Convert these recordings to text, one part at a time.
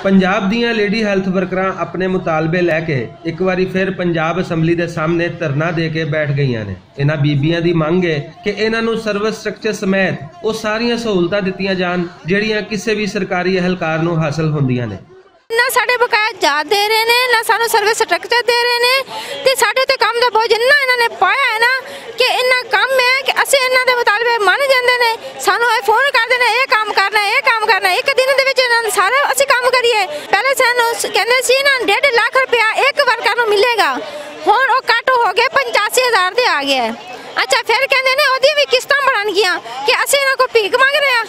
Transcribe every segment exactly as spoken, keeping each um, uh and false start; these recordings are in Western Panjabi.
پنجاب دیاں لیڈی ہیلتھ ورکراں اپنے مطالبے لے کے اک واری فیر پنجاب اسمبلی دے سامنے دھرنا دے کے بیٹھ گئیاں نے۔ انہاں بیبیاں دی منگ ہے کہ انہاں نوں سروس سٹرکچر سمیت او ساریاں سہولتاں دتیاں جان، جہڑیاں کسے وی سرکاری اہلکار نوں حاصل ہوندیاں نے۔ نہ ساڈے بقایا جات دے رہے نے، نہ سانو سروس سٹرکچر دے رہے نے۔ تے ساڈے تے کم دا بوجھ انہاں انہاں نے پایا ہے نا، کہ انہاں کم ہے کہ اسی انہاں دے مطالبے من جاندے نے۔ سانو اے فون کردے نے، اے کام کرنا ہے، اے کام کرنا ہے۔ ایک دن دے وچ انہاں نے سارا اسی کام کریے۔ پہلے سانو س-، کہندے سی نا، ڈیڑھ لاکھ روپیہ ایک ورکر نوں ملے گا۔ ہن او کٹ ہو گئے، پچاسی ہزار تے آ گیا ہے۔ اچھا، پھر کہندے نے اودی وی قسطاں بنن گیاں، کہ اسی انہاں کو بھیک منگ رہے ہاں،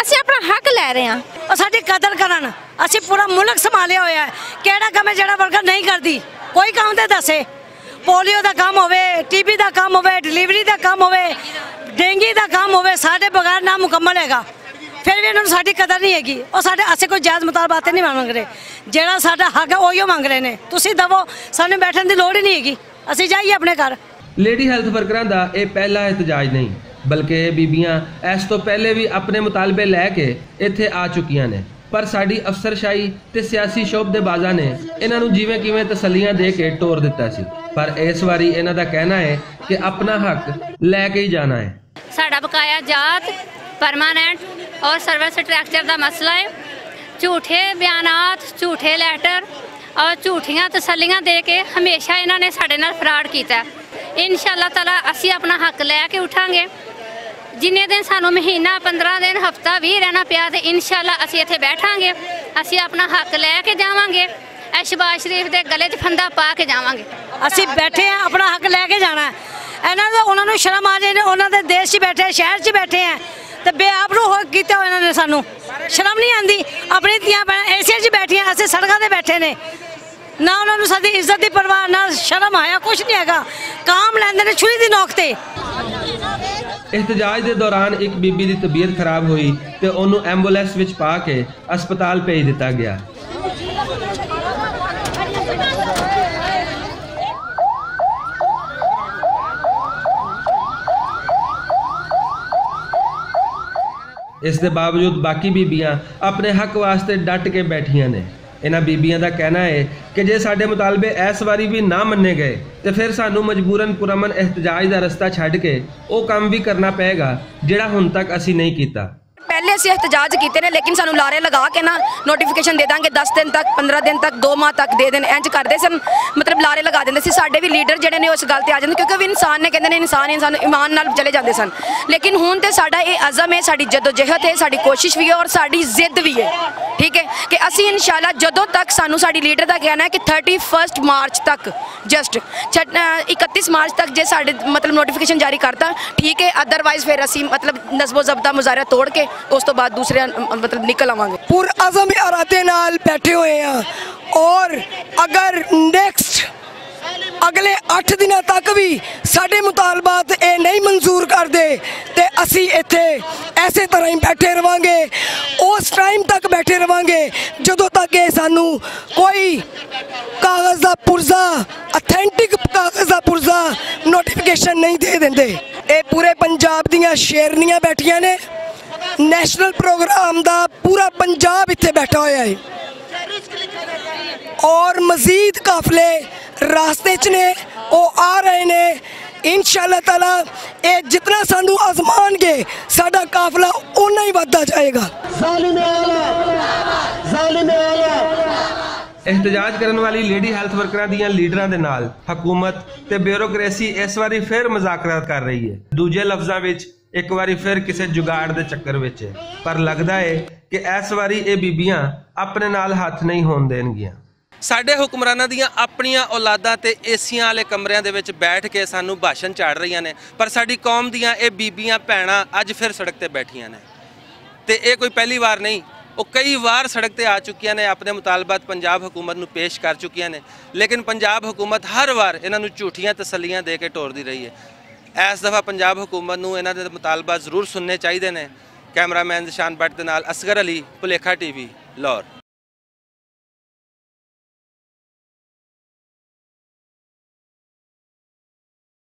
اسی اپنا حق لے رہے ہاں۔ او ساڈی قدر کرن۔ اسی پورا ملک سنبھالیا ہویا ہے۔ کیڑا کم ہے جڑا ورکر نہیں کردی؟ کوئی کم تے دسے۔ پولیو دا کم ہوے، ٹی بی دا کم ہوے، ڈلیوری دا کم ہوے، ڈینگی دا کم ہوے، ساڈے بغیر نامکمل ہے گا۔ پھر وی انہاں نوں ساڈی قدر نہیں ہے گی۔ او ساڈے اسے کوئی جائز مطالبات نہیں منگ رہے۔ جڑا ساڈا حق ہے، اوہی منگ رہے نے۔ تسی دو، سانوں بیٹھن دی لوڑ ہی نہیں ہے گی۔ اسی جائیے اپنے گھر۔ لیڈی ہیلتھ ورکراں دا اے پہلا احتجاج نہیں، بلکہ اے بیبیاں ایس توں پہلے وی اپنے مطالبے لے کے ایتھے آ چکیاں نے، پر ساڈی افسرشاہی تے سیاسی شعب دے بازاں نے انہاں نوں جیویں کیویں تسلیاں دے کے ٹور دتا سی۔ پر اس واری انہاں دا کہنا ہے کہ اپنا حق لے کے ہی جانا ہے۔ ساڈا بقایا جات، پرماننٹ اور سروس سٹرکچر دا مسئلہ ہے۔ جھوٹے بیانات، جھوٹے لیٹر اور جھوٹیاں تسلیاں دے کے ہمیشہ انہاں نے ساڈے نال فراڈ کیتا ہے۔ انشاءاللہ تعالیٰ اسی اپنا حق لے کے اٹھاں گے۔ جنہیں دن سانوں مہینہ، پندرہ دن، ہفتہ وی رہنا پیا تے انشاءاللہ اسی اتھے بیٹھاں گے، اسی اپنا حق لے کے جاواں گے۔ اے شہباز شریف دے گلے 'چ پھندا پا کے جاواں گے۔ اسی بیٹھے ہیں، اپنا حق لے کے جانا ہے۔ انہاں دا، انہاں نوں شرم آ جائے، انہاں دے دیش 'چ بیٹھے ہیں، شہر 'چ بیٹھے ہیں، تے بے آپ نوں ہو کیتا ہویا انہاں نے سانوں۔ شرم نہیں آندی؟ اپنی دھیاں بہناں اے سی 'چ بیٹھیاں، اسی سڑکاں تے بیٹھے نے۔ نہ انہاں نوں ساڈی عزت دی پرواہ، نہ شرم آیا، کچھ نہیں ہیگا۔ کام لیندے نے چھری دی نوک تے۔ احتجاج دے دوران اک بی بی دی طبیعت خراب ہوئی تے اونوں ایمبولینس وچ پا کے ہسپتال بھیج دتا گیا۔ اس دے باوجود باقی بیبیاں اپنے حق واسطے ڈٹ کے بیٹھیاں نے۔ انہاں بیبیاں دا کہنا ہے کہ جے ساڈے مطالبے اس واری وی نہ مننے گئے تے پھر سانوں مجبورن پرامن احتجاج دا رستہ چھڈ کے او کم وی کرنا پئے گا، جڑا ہن تک اسی نہیں کیتا۔ پہلے اسی احتجاج کیتے نے، لیکن سانوں لارے لگا کے نا، نوٹیفکیشن دے داں گے دس دن تک، پندرہ دن تک، دو ماہ تک دے دن، انج کردے سن۔ مطلب لارے لگا دیندے سی۔ ساڈے وی لیڈر جڑے نے اس گل تے آ جاندے، کیونکہ وہ انسان نے، کہندے نے انسان، انسان ایمان نال چلے جاندے سن۔ لیکن ہن تے ساڈا اے عزم ہے، ساڈی جدوجہد ہے، ساڈی کوشش وی ہے اور ساڈی ضد وی ہے، ٹھیک ہے، کہ اسی انشاءاللہ جدوں تک سانوں ساڈی لیڈر دا کہنا ہے کہ تھرٹی فرسٹ مارچ تک، جسٹ اکتیس مارچ تک جے ساڈے مطلب نوٹیفکیشن جاری کرتا، ٹھیک ہے، ادروائز پھر اسی مطلب نظم و ضبط دا مظاہرہ توڑ کے اس تو بعد دوسرے مطلب نکل آواں گے۔ پر عزم ارادے نال بیٹھے ہوئے ہاں اور اگر نیکسٹ اگلے اٹھ دناں تک وی ساڈے مطالبات اے نہیں منظور کردے تے اسی ایتھے ایسے طرح ہی بیٹھے رہواں گے، اس ٹائم تک بیٹھے رہواں گے جدوں تک اے سانوں کوئی کاغذ دا پرزا، اتھینٹک کاغذ دا پرزا نوٹیفکیشن نہیں دے دیندے۔ اے پورے پنجاب دیاں شیرنیاں بیٹھیاں نے، نیشنل پروگرام دا پورا پنجاب ایتھے بیٹھا ہویا ہے اور مزید قافلے راستے چ نے، او آ رہے نے۔ انشاءاللہ تعالیٰ اے جتنا سانو آزمان گے، ساڈا قافلہ اونا ہی ودھدا جائے گا۔ ظالم اعلیٰ، ظالم اعلیٰ۔ احتجاج کرن والی لیڈی ہیلتھ ورکراں دیاں لیڈراں دے نال حکومت تے بیوروکریسی اس واری پھر مذاکرات کر رہی ہے۔ دوجے لفظاں وچ، ایک واری پھر کسے جگاڑ دے چکر وچ ہے، پر لگدا ہے کہ اس واری اے بیبیاں اپنے نال ہاتھ نہیں ہون دین گیاں۔ ساڈے حکمراناں دیاں اپنیاں اولاداں تے اے سیاں والے کمریاں دے وچ بیٹھ کے سانوں بھاشن چاڑھ رہیاں نے، پر ساڈی قوم دیاں اے بیبیاں بھیناں اج پھر سڑک تے بیٹھیاں نے۔ تے اے کوئی پہلی وار نہیں، او کئی وار سڑک تے آ چکیاں نے، اپنے مطالبات پنجاب حکومت نوں پیش کر چکیاں نے، لیکن پنجاب حکومت ہر وار انہاں نوں جھوٹیاں تسلیاں دے کے ٹوردی رہی ہے۔ اس دفعہ پنجاب حکومت نوں انہاں دے مطالبات ضرور سننے چاہیدے نے۔ کیمرہ مین ذیشان بٹ دے نال اصغر علی، پلیکھا ٹی وی، لاہور۔